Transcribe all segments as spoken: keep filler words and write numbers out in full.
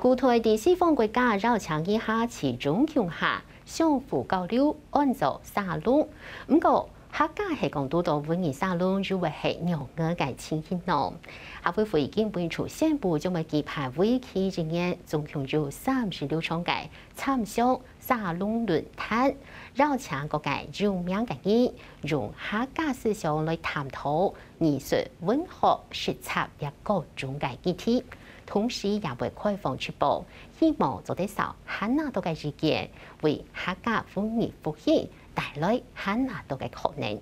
古代在西方國家邀請異客在中共下相互交流，安做沙龍。毋過，客家係講堵到文藝沙龍，又會係仰般个情形呢？客委會今晡日宣布，將會舉辦為期一年，總共有三十六場个參詳沙龍論壇，邀請各界有名个人，用客家思想來探討 藝術、文學、實踐這各種个議題，同時也會開放直播，希望做得收還較多个意見，為客家文藝復興帶來還較多个可能。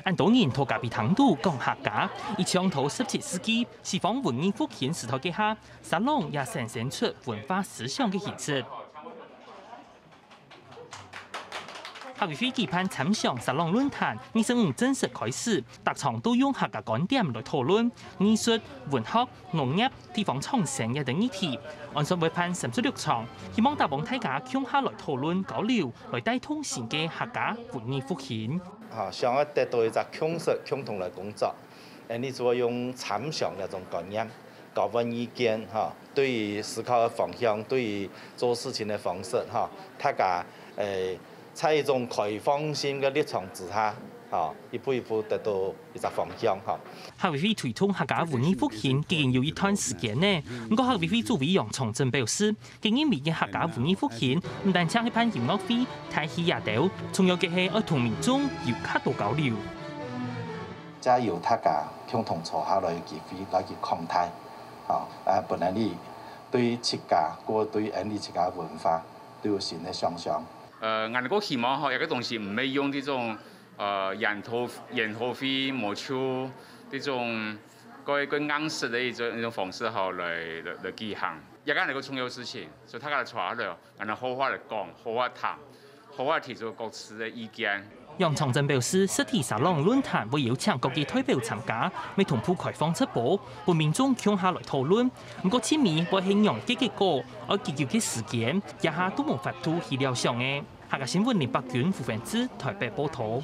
恁多人在咖啡廳肚講客家，一像在十七世紀西方文藝復興時代該下，沙龍也產生出文化思想个形式。 客委會舉辦參詳沙龍論壇，二十五正式開始，逐場都用客家觀點來討論藝術、文學、農業、地方創生這等議題。按算會辦三十六場，希望打幫大家共下來討論交流，來帶動新个客家文藝復興。啊，想要得到一隻共識，共同來工作。恁樣就愛用參詳這種觀念，交換意見，哈，對於思考个方向，對於做事情个方式，哈，大家，誒，在一種開放性个立場之下，哈，一步一步得到一隻方向，哈。客委會推動客家文藝復興已經有一段時間了，毋過客委會主委楊長鎮表示，佢認為个客家文藝復興毋單淨係辦音樂會、大戲這兜，重要个係愛同民眾有較多交流。 藉由大家共同坐下來个機會來去看待，吼，啊，分𠊎俚對自家，過對𠊎俚自家文化都有新个想像。呃，𠊎个希望吼，這个東西毋係用這種，呃，研討，研討會、無就這種過，過硬式个一種，一種方式吼，來，來，來舉行。這个係个重要事情，所以大家來坐下來，然後好好來講，好好談。 好好提出各自个意見。楊長鎮表示，實體沙龍論壇會邀請各界代表參加，乜同步開放直播，分民眾共下來討論。毋過，盡尾會係仰結結果，愛幾久个時間，這下都無法度去料想个。客家新聞林伯君、胡文志台北報導。